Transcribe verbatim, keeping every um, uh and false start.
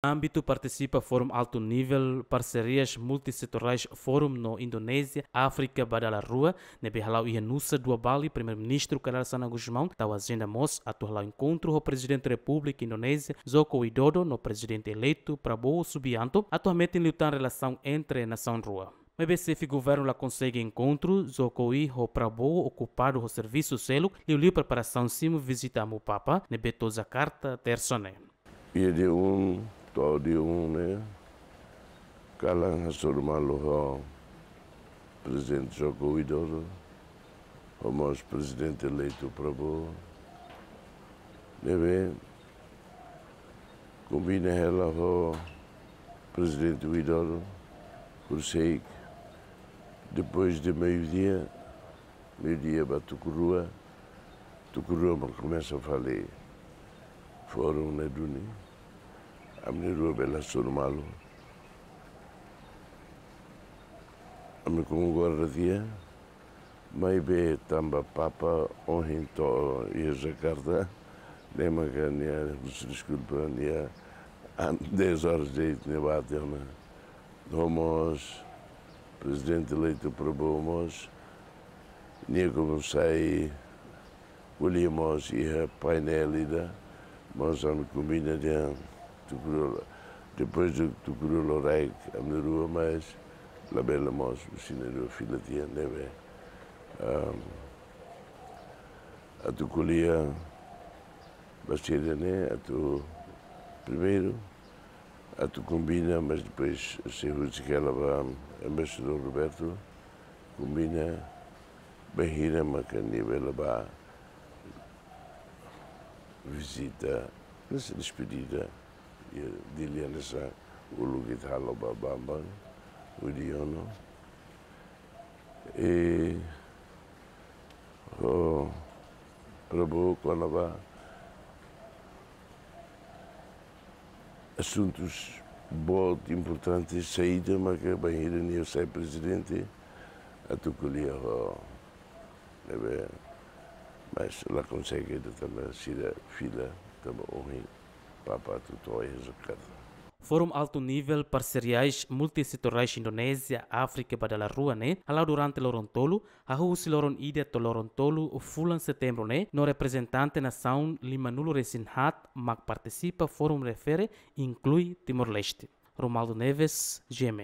Ámbitu partisipa Fórum Altu Nivel Parserias Multisetorais Fórum no Indonézia, Áfrika ba Dala Rua, ne'ebé hala'o iha Nusa Dua, Bali, Primeiru-Ministru Kay Rala Xanana Gusmão tau ajenda mós atu hala'o enkontru ho Prezidente Repúblika Indonézia, Joko Widodo, no Prezidente eleitu Prabowo Subianto, atu hametin liután relasaun entre nasaun rua. Maibé xefe governu la konsege enkontru, Jokowi ho Prabowo okupadu ho servisu seluk, liuliu preparasaun simu vizita Amu Papa, ne'ebé to'o Jakarta, tersa ne'e. Iha dia um, to'o dia um ne'e, kalan hasoru malu ho Prezidente Joko Widodo, ho mós Prezidente eleitu Prabowo, ne'ebé kombina hela ho Prezidente Widodo, horiseik depois de meio-dia, meio-dia ba tuku rua, tuku rua mak komesa fali fórum ne'e duni. Ami na'in-rua bele hasoru malu. Ami komu guarda tiha, maibé tanba Papa ohin to'o iha Jakarta, ne'e maka nia husu deskulpa, nia an-, dez horas de'it nia bá tiha ona. No mós Prezidente eleitu Prabowo mós, nia komu sai ko'alia mós iha painel ida, mós ami kombina dehan tuku rua, depois de tuku rua loraik ami na'in-rua, mas labele mós husi na'in-rua fila tiha, ne'ebé, ahm, atu ko'alia ba sira-ne'e, atu primeiru atu kombina, mas depois sei husik hela ba Embaixadór Roberto, kombina bainhira maka nia bele bá vizita, hanesan despedida, iha Dili hanesan uluk ita halo ba Bambang Yudhoyono. I ho Prabowo kona-ba asuntus boot importante saida maka bainhira nia sai prezidente atu ko'alia ho ne'ebé, mas la konsege ida tanba sira fila tanba ohin Papa atu to'o iha Jakarta. Fórum Altu Nivel Parseriais Multisetorais Indonézia, Áfrika ba Dala Rua ne'e hala'o durante loron tolu, hahú husi loron ida to'o loron tolu fulan Setembru ne'e, no reprezentante nasaun limanulu-resin-haat mak partisipa fórum refere, inklui Timor-Leste. Romualdo Neves, G M N.